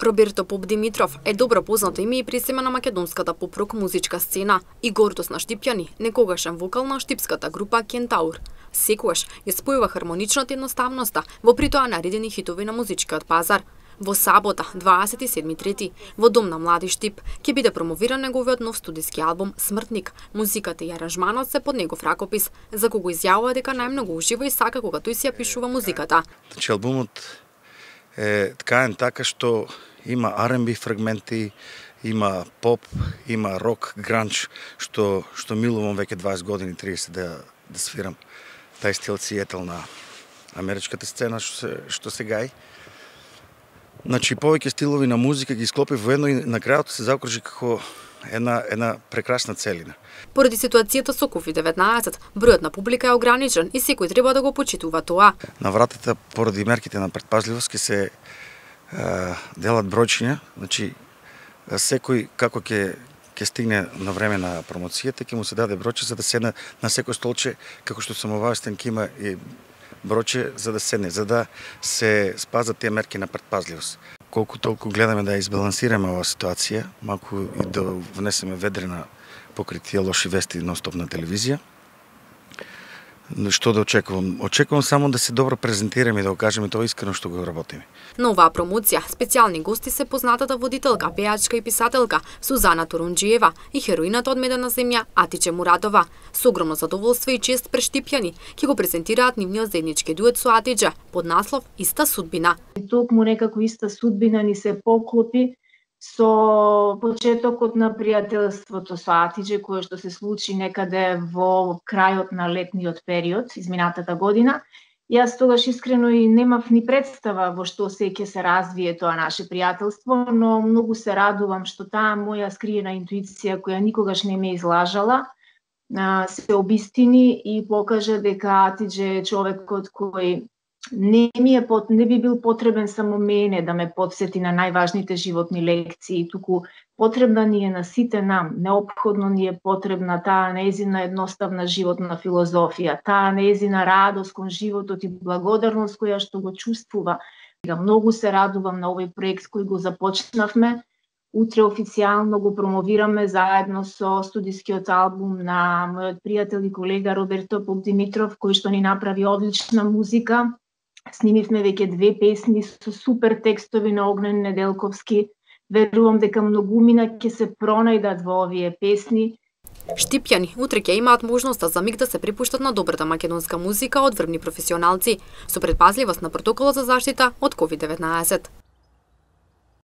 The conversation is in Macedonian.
Роберто Поп Димитров е добро познато име и пресеме на македонската поп-рок музичка сцена и гордост на Штипјани, некогашен вокал на штипската група Кентаур. Секогаш ја спојува хармоничната едноставноста во притоа наредени хитови на музичкиот пазар. Во сабота, 27.3, во Дом на млади Штип, ќе биде промовиран неговиот нов студиски албум Смртник. Музиката и аранжманот се под негов ракопис, за кого изјавува дека најмногу ужива и сака кога тој си ја пишува музиката. Значи албумот е ткаен така што има R&B фрагменти, има поп, има рок, гранч, што милувам веќе 20 години, 30 да свирам. Тај стил сиетел на америчката сцена што се гаи. Значи повеќе стилови на музика ги склопив во едно и на крајот се заокружи како една прекрасна целина. Поради ситуацијата со COVID-19, бројот на публика е ограничен и секој треба да го почитува тоа. На вратата, поради мерките на претпазливост, ќе се делат бројчиња, значи секој како ќе стигне на време на промоцијата, ќе му се даде бројче за да седне на секој столче, како што сум обавестен, ќе има и бројче за да седне, за да се спазат тие мерки на претпазливост. Колку толку гледаме да избалансираме оваа ситуација, малку и да внесеме ведрина покрај тие лоши вести нон-стоп на телевизија. Што да очекувам? Очекувам само да се добро презентираме и да го кажеме тоа искрено што го работиме. На оваа промоција специјални гости се познатата водителка, пејачка и писателка Сузана Турунџиева и хероината од Медена земја Атиче Мурадова. Со огромно задоволство и чест пред Штипјани ќе го презентираат нивниот заеднички дует со Атиче под наслов Иста судбина. Токму некако иста судбина ни се поклопи со почетокот на пријателството со Атиче, кое што се случи некаде во крајот на летниот период, изминатата година. Јас тогаш искрено и немав ни представа во што се ќе се развие тоа наше пријателство, но многу се радувам што таа моја скриена интуиција, која никогаш не ме излажала, се обистини и покажа дека Атиче е човекот кој не би бил потребен само мене да ме потсети на најважните животни лекции, туку потребна ни е на сите нам, неопходно ни е потребна таа нејзина едноставна животна филозофија, таа нејзина радост кон животот и благодарност која што го чувствува. Многу се радувам на овој проект кој го започнавме. Утре официјално го промовираме заедно со студискиот албум на мојот пријател и колега Роберто Поп Димитров, кој што ни направи одлична музика. Снимивме веќе 2 песни со супер текстови на Огнен Неделковски. Верувам дека многумина ќе се пронајдат во овие песни. Штипјани утре ќе имаат можноста за миг да се припуштат на добрата македонска музика од врвни професионалци, со предпазливост на протоколот за заштита од COVID-19.